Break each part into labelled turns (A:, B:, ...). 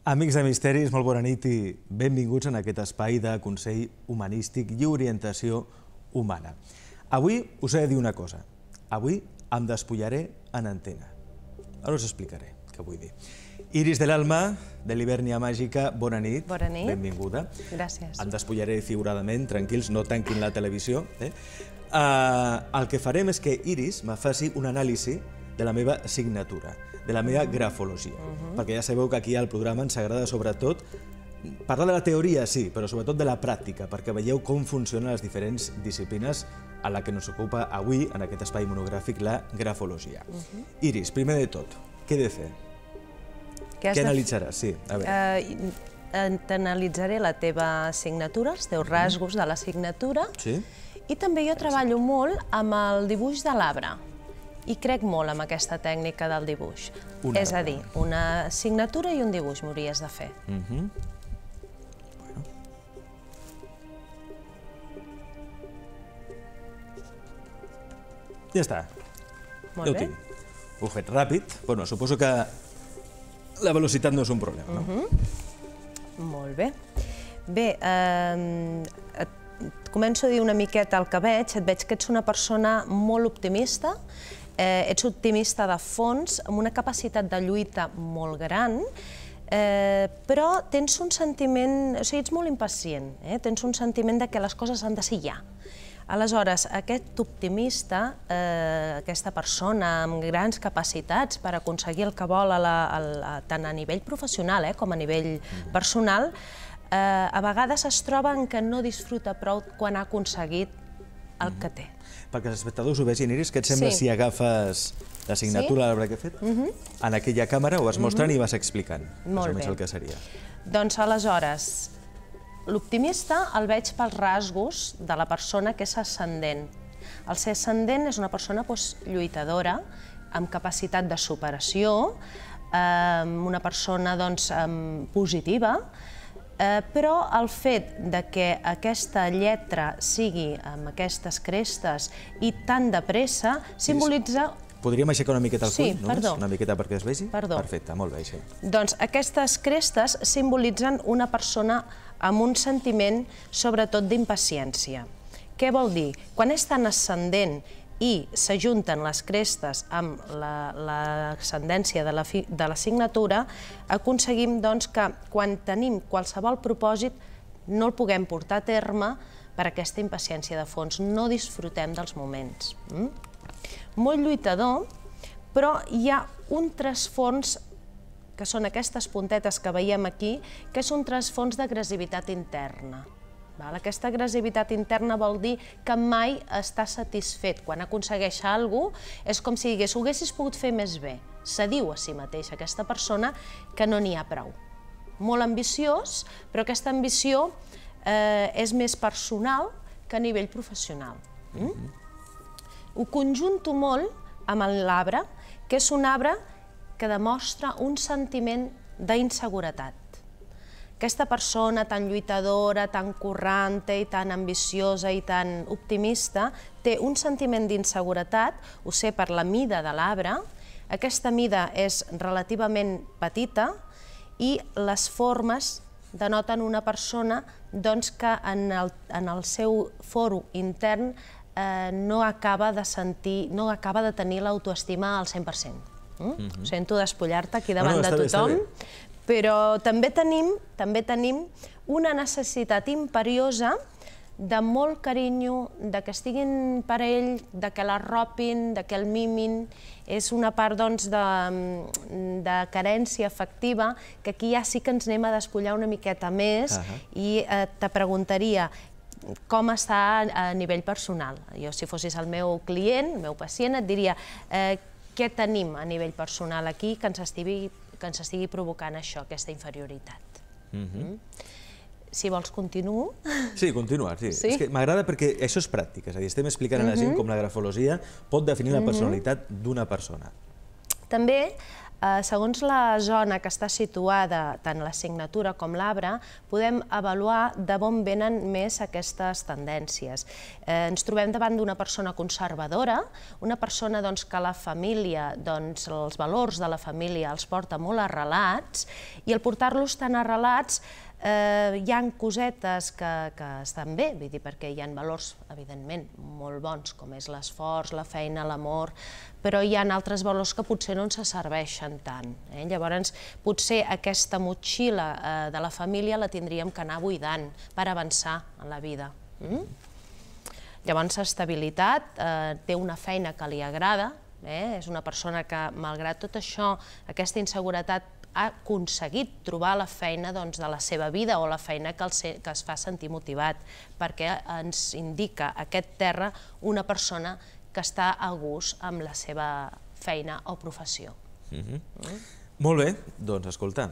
A: Amics de Misteris, molt bona nit i benvinguts en aquest espai de consell humanístic i orientació humana. Avui us he de dir una cosa. Avui em despullaré en antena. Ara us explicaré què vull dir. Iris de l'Alma, de l'Hibernia Màgica, bona nit.
B: Bona nit.
A: Benvinguda.
B: Gràcies.
A: Em despullaré figuradament, tranquils, no tanquin la televisió. El que farem és que Iris me faci un anàlisi de la meva signatura, de la meva grafologia. Perquè ja sabeu que aquí al programa ens agrada sobretot parlar de la teoria, sí, però sobretot de la pràctica, perquè veieu com funcionen les diferents disciplines a la que ens ocupa avui, en aquest espai monogràfic, la grafologia. Iris, primer de tot, què he de fer? Què analitzaràs? Sí, a veure.
B: T'analitzaré la teva signatura, els teus rasgos de la signatura,
A: Sí?
B: i també jo treballo molt amb el dibuix de l'arbre. I crec molt en aquesta tècnica del dibuix. És a dir, una signatura i un dibuix m'hauries de fer.
A: Ja està. Ja ho tinc. Ho he fet ràpid. Bueno, suposo que la velocitat no és un problema, no?
B: Molt bé. Bé, començo a dir una miqueta el que veig. Et veig que ets una persona molt optimista, ets optimista de fons, amb una capacitat de lluita molt gran, però tens un sentiment, o sigui, ets molt impacient, tens un sentiment de que les coses han de ser ja. Aleshores, aquest optimista, aquesta persona amb grans capacitats per aconseguir el que vol tant a nivell professional com a nivell personal, a vegades es troba en que no disfruta prou quan ha aconseguit el que té.
A: Perquè els espectadors ho vegin, Iris, què et sembla si agafes la signatura de l'arbre que he fet? En aquella càmera ho vas mostrant i vas explicant més o menys el que seria.
B: Doncs aleshores, l'optimista el veig pels rasgos de la persona que és ascendent. El ser ascendent és una persona lluitadora, amb capacitat de superació, una persona positiva, però el fet que aquesta lletra sigui amb aquestes crestes i tan de pressa simbolitza...
A: Podríem aixecar una miqueta el full?
B: Sí, perdó.
A: Una miqueta perquè es vegi?
B: Perdó.
A: Perfecte, molt bé, així.
B: Doncs aquestes crestes simbolitzen una persona amb un sentiment, sobretot, d'impaciència. Què vol dir? Quan és tan ascendent i s'ajunten les crestes amb l'ascendència de la signatura, aconseguim que quan tenim qualsevol propòsit no el puguem portar a terme per aquesta impaciència de fons, no disfrutem dels moments. Molt lluitador, però hi ha un trasfons, que són aquestes puntetes que veiem aquí, que és un trasfons d'agressivitat interna. Aquesta agressivitat interna vol dir que mai està satisfet. Quan aconsegueix alguna cosa, és com si digués, ho haguessis pogut fer més bé. Se diu a si mateix aquesta persona que no n'hi ha prou. Molt ambiciós, però aquesta ambició és més personal que a nivell professional. Ho conjunto molt amb l'arbre, que és un arbre que demostra un sentiment d'inseguretat. Aquesta persona tan lluitadora, tan corrente i tan ambiciosa i tan optimista té un sentiment d'inseguretat, ho sé per la mida de l'arbre. Aquesta mida és relativament petita i les formes denoten una persona que en el seu foro intern no acaba de tenir l'autoestima al 100%. Ho sento despullar-te aquí davant de tothom, però també tenim una necessitat imperiosa de molt carinyo, de que estiguin per ell, de que l'arropin, de que el mimin. És una part de carència afectiva que aquí ja sí que ens anem a despullar una miqueta més i te preguntaria com està a nivell personal. Jo, si fossis el meu client, el meu pacient, et diria què tenim a nivell personal aquí que ens estigui provocant això, aquesta inferioritat. Si vols, continuo?
A: Sí, continua, sí. És que m'agrada perquè això és pràctic, és a dir, estem explicant a la gent com la grafologia pot definir la personalitat d'una persona.
B: També Segons la zona que està situada, tant la signatura com l'arbre, podem avaluar de on venen més aquestes tendències. Ens trobem davant d'una persona conservadora, una persona que la família, els valors de la família els porta molt arrelats, i al portar-los tan arrelats hi ha cosetes que estan bé, vull dir, perquè hi ha valors, evidentment, molt bons, com és l'esforç, la feina, l'amor, però hi ha altres valors que potser no ens serveixen tant. Llavors, potser aquesta motxilla de la família la tindríem que anar buidant per avançar en la vida. Llavors, estabilitat, té una feina que li agrada, és una persona que, malgrat tot això, aquesta inseguretat, ha aconseguit trobar la feina de la seva vida o la feina que es fa sentir motivat, perquè ens indica aquest terra una persona que està a gust amb la seva feina o professió.
A: Molt bé, doncs escolta,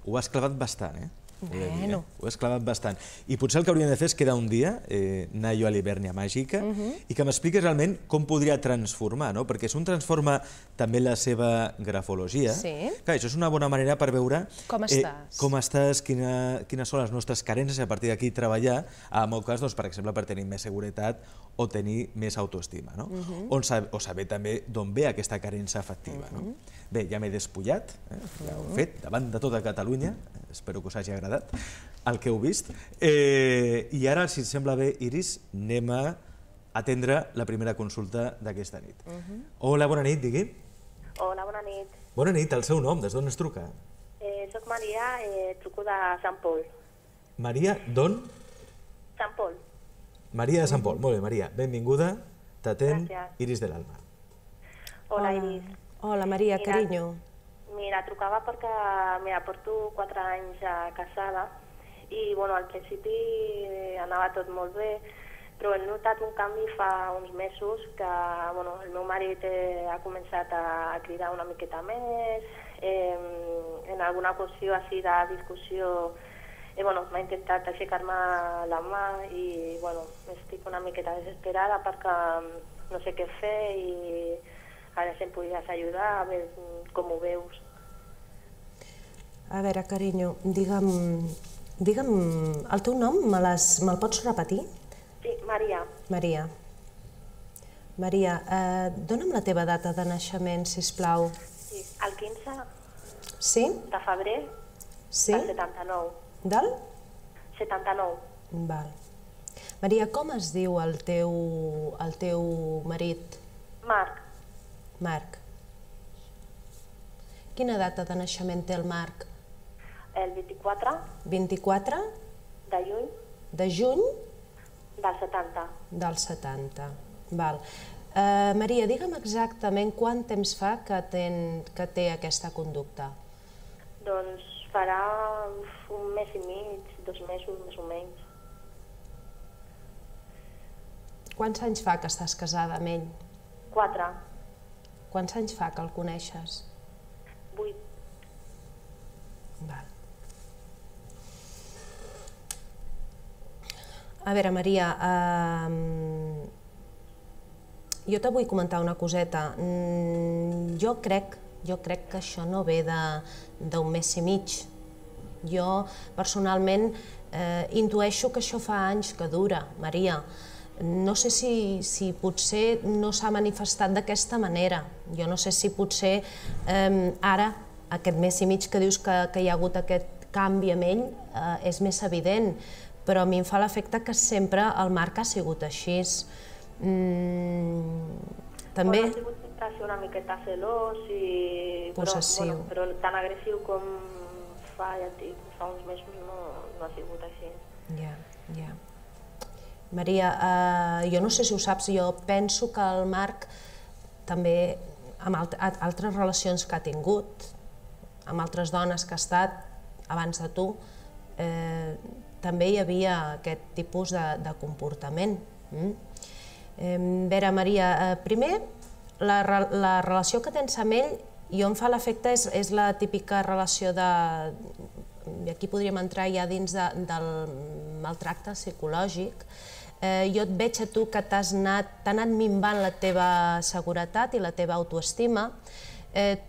A: ho has clavat bastant, eh?
B: Bueno.
A: Ho has clavat bastant. I potser el que hauríem de fer és quedar un dia, anar jo a l'Hivèrnia Màgica, i que m'expliquis realment com podria transformar, no? Perquè si un transforma també la seva grafologia, clar, això és una bona manera per veure com estàs, quines són les nostres carències, i a partir d'aquí treballar, en el meu cas, per exemple, per tenir més seguretat o tenir més autoestima, o saber també d'on ve aquesta carència afectiva. Bé, ja m'he despullat, ja ho he fet, davant de tota Catalunya, espero que us hagi agradat el que heu vist, i ara, si et sembla bé, Iris, anem a atendre la primera consulta d'aquesta nit. Hola, bona nit, digui.
C: Hola, bona nit.
A: Bona nit, el seu nom, des d'on es truca?
C: Soc Maria, truco de Sant Pol.
A: Maria, d'on?
C: Sant Pol.
A: Maria de Sant Pol, molt bé, Maria, benvinguda, t'atén Iris de l'Alba.
C: Hola, Iris.
B: Hola, Maria, carinyo.
C: Mira, trucava perquè, porto 4 anys casada i, al principi anava tot molt bé, però he notat un canvi fa uns mesos que, el meu marit ha començat a cridar una miqueta més, en alguna qüestió així de discussió m'ha intentat aixecar-me la mà i estic una miqueta desesperada perquè no sé què fer i ara si em podries ajudar a veure com ho veus.
B: A veure, carinyo, digue'm el teu nom, me'l pots repetir?
C: Sí, Maria.
B: Maria. Maria, dona'm la teva data de naixement, sisplau.
C: Sí, el 15 de febrer del 79.
B: Del?
C: 79.
B: Val. Maria, com es diu el teu marit?
C: Marc.
B: Marc. Quina data de naixement té el Marc?
C: El 24.
B: 24?
C: De juny.
B: De juny?
C: Del 70.
B: Del 70. Val. Maria, digue'm exactament quant temps fa que té aquesta conducta?
C: Doncs farà un mes i mig, 2 mesos, més o menys.
B: Quants anys fa que estàs casada amb ell?
C: 4.
B: Quants anys fa que el coneixes?
C: 8.
B: Val. A veure, Maria, jo te vull comentar una coseta. Jo crec que això no ve d'un mes i mig. Jo, personalment, intueixo que això fa anys que dura, Maria. No sé si potser no s'ha manifestat d'aquesta manera. Jo no sé si potser ara, aquest mes i mig que dius que hi ha hagut aquest canvi amb ell, és més evident, però a mi em fa l'efecte que sempre el Marc ha sigut així. També...
C: Ha sigut sempre una miqueta celós i...
B: possessiu.
C: Però tan agressiu com fa uns mesos no ha sigut així.
B: Ja. Maria, jo no sé si ho saps, jo penso que el Marc també, amb altres relacions que ha tingut, amb altres dones que ha estat abans de tu, també hi havia aquest tipus de comportament. A veure, Maria, primer, la relació que tens amb ell, jo em fa l'efecte, és la típica relació de... i aquí podríem entrar ja dins del maltracte psicològic. Jo et veig a tu que t'ha anat minvant la teva seguretat i la teva autoestima.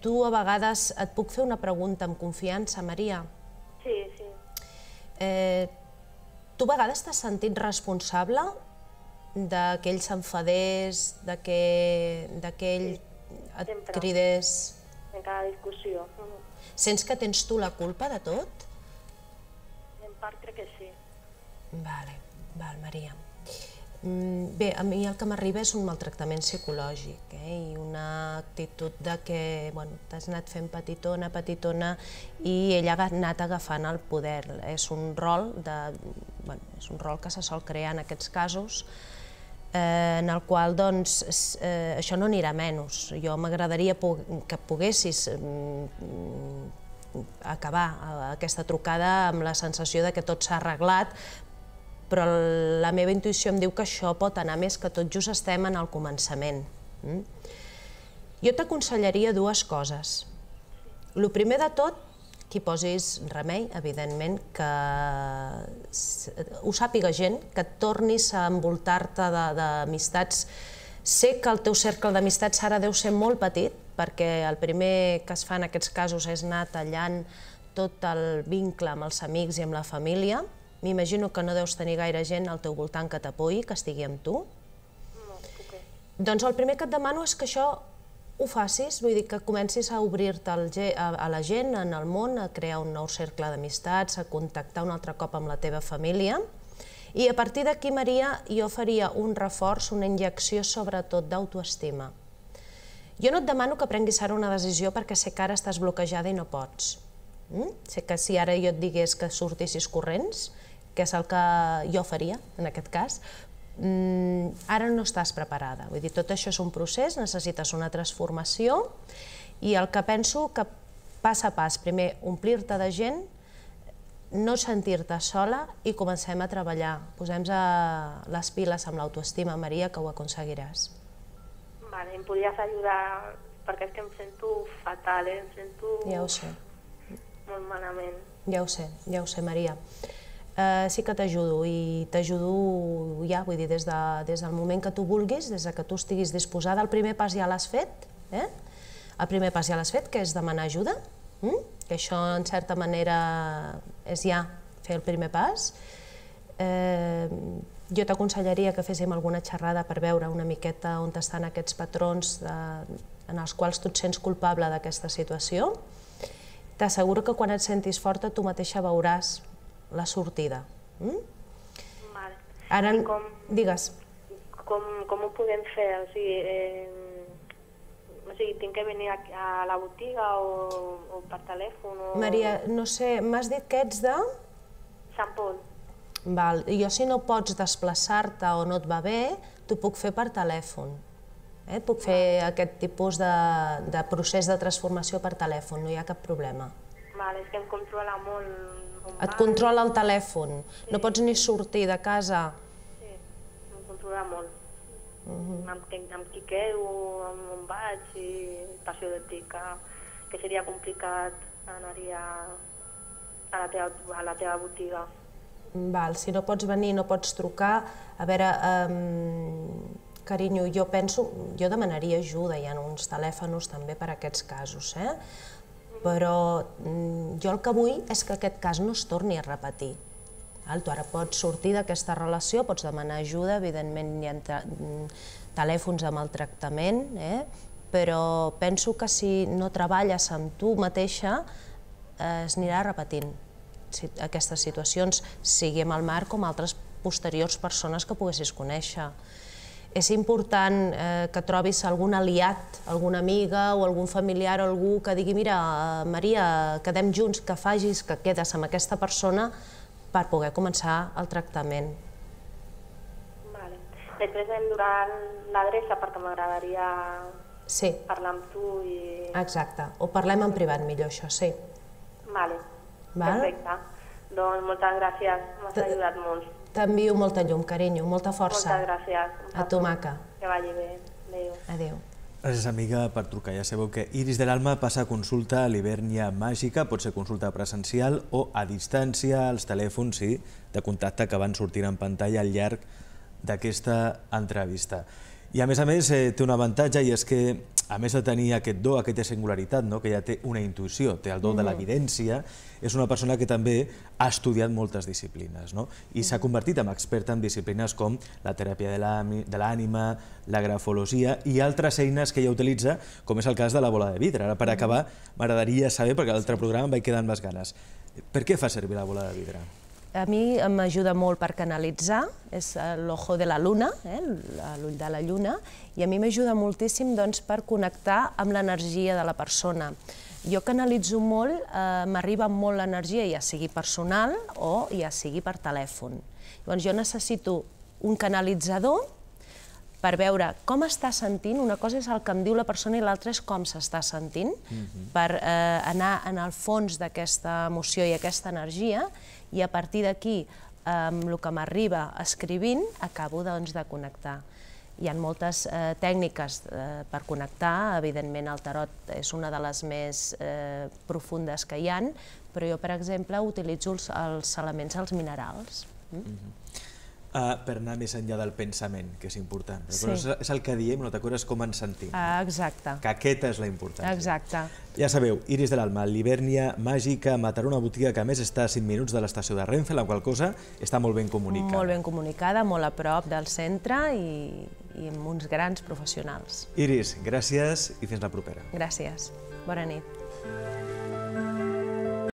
B: Tu a vegades et puc fer una pregunta amb confiança, Maria?
C: Sí, sí.
B: Tu a vegades t'has sentit responsable que ell s'enfadés, que ell et cridés?
C: En cada discussió.
B: Sents que tens tu la culpa de tot?
C: En part crec que sí.
B: Val, Maria. Bé, a mi el que m'arriba és un maltractament psicològic i una actitud de que t'has anat fent petitona i ell ha anat agafant el poder. És un rol que se sol crear en aquests casos en el qual això no anirà menys. Jo m'agradaria que poguessis acabar aquesta trucada amb la sensació de que tot s'ha arreglat, però la meva intuïció em diu que això pot anar més, que tot just estem en el començament. Jo t'aconsellaria dues coses. El primer de tot, que hi posis remei, evidentment, que ho sàpiga gent, que et tornis a envoltar-te d'amistats. Sé que el teu cercle d'amistats ara deu ser molt petit, perquè el primer que es fa en aquests casos és anar tallant tot el vincle amb els amics i amb la família. M'imagino que no deus tenir gaire gent al teu voltant que t'apoyi, que estigui amb tu.
C: No, puc.
B: Doncs el primer que et demano és que això ho facis, vull dir que comencis a obrir-te a la gent, en el món, a crear un nou cercle d'amistats, a contactar un altre cop amb la teva família. I a partir d'aquí, Maria, jo faria un reforç, una injecció sobretot d'autoestima. Jo no et demano que prenguis ara una decisió perquè sé que ara estàs bloquejada i no pots. Sé que si ara jo et digués que sortissis corrents, que és el que jo faria en aquest cas, ara no estàs preparada. Vull dir, tot això és un procés, necessites una transformació i el que penso que pas a pas, primer omplir-te de gent, no sentir-te sola i comencem a treballar. Posem-nos les piles amb l'autoestima, Maria, que ho aconseguiràs.
C: Vale, em podries ajudar perquè és que em sento fatal, em sento...
B: Ja ho sé.
C: Molt malament.
B: Ja ho sé, Maria. Sí que t'ajudo i t'ajudo ja, vull dir, des del moment que tu vulguis, des que tu estiguis disposada. El primer pas ja l'has fet, el primer pas ja l'has fet, que és demanar ajuda, que això en certa manera és ja fer el primer pas. Jo t'aconsellaria que féssim alguna xerrada per veure una miqueta on estan aquests patrons en els quals tu et sents culpable d'aquesta situació. T'asseguro que quan et sentis forta tu mateixa veuràs la sortida. Ara, digues.
C: Com ho podem fer? O sigui, tinc que venir a la botiga o per telèfon?
B: Maria, no sé, m'has dit que ets de...
C: Sant Pol.
B: Val, jo si no pots desplaçar-te o no et va bé, t'ho puc fer per telèfon. Puc fer aquest tipus de procés de transformació per telèfon, no hi ha cap problema.
C: És que em controla molt.
B: Et controla el telèfon? No pots ni sortir de casa?
C: Sí, em controla molt. Amb qui quedo, on vaig, i passió de dir que seria complicat anar-hi a la teva botiga.
B: Val, si no pots venir, no pots trucar, a veure... Carinyo, jo demanaria ajuda, hi ha uns telèfons també per a aquests casos, però jo el que vull és que aquest cas no es torni a repetir. Tu ara pots sortir d'aquesta relació, pots demanar ajuda, evidentment hi ha telèfons de maltractament, però penso que si no treballes amb tu mateixa es anirà repetint aquestes situacions, sigui amb el Marc com altres posteriors persones que poguessis conèixer. És important que trobis algun aliat, alguna amiga o algun familiar o algú que digui mira, Maria, quedem junts, que facis, que quedes amb aquesta persona per poder començar el tractament.
C: Després em donarà l'adreça perquè m'agradaria parlar amb tu i...
B: Exacte, o parlem en privat millor, això, sí.
C: Perfecte. Doncs moltes gràcies, m'has ajudat molt.
B: T'envio molta llum, carinyo, molta força.
C: Moltes gràcies.
B: A tu, maca.
C: Que vagi bé. Adéu.
B: Adéu.
A: Gràcies, amiga, per trucar. Ja sabeu que Iris de l'Alma passa a consulta a l'Hivèrnia Màgica, pot ser consulta presencial o a distància, als telèfons de contacte que van sortir en pantalla al llarg d'aquesta entrevista. I a més, té un avantatge i és que a més de tenir aquest do, aquesta singularitat, que ja té una intuïció, té el do de l'evidència, és una persona que també ha estudiat moltes disciplines i s'ha convertit en experta en disciplines com la teràpia de l'ànima, la grafologia i altres eines que ella utilitza, com és el cas de la bola de vidre. Ara, per acabar, m'agradaria saber, perquè a l'altre programa em vaig quedar amb les ganes, per què fa servir la bola de vidre?
B: A mi m'ajuda molt per canalitzar, és l'ojo de la luna, l'ull de la lluna, i a mi m'ajuda moltíssim per connectar amb l'energia de la persona. Jo canalitzo molt, m'arriba molt l'energia, ja sigui personal o ja sigui per telèfon. Llavors jo necessito un canalitzador per veure com està sentint, una cosa és el que em diu la persona i l'altra és com s'està sentint, per anar en el fons d'aquesta emoció i aquesta energia, i a partir d'aquí, amb el que m'arriba escrivint, acabo de connectar. Hi ha moltes tècniques per connectar, evidentment el tarot és una de les més profundes que hi ha, però jo, per exemple, utilitzo els elements, els minerals.
A: Per anar més enllà del pensament, que és important. És el que diem, no t'acordes com ens sentim.
B: Exacte.
A: Que aquesta és la importància.
B: Exacte.
A: Ja sabeu, Iris de l'Alma, l'Hivèrnia Màgica, Mataró, una botiga que a més està a 5 minuts de l'estació de Renfe, la qual cosa està molt ben comunicada.
B: Molt ben comunicada, molt a prop del centre i amb uns grans professionals.
A: Iris, gràcies i fins la propera.
B: Gràcies. Bona nit.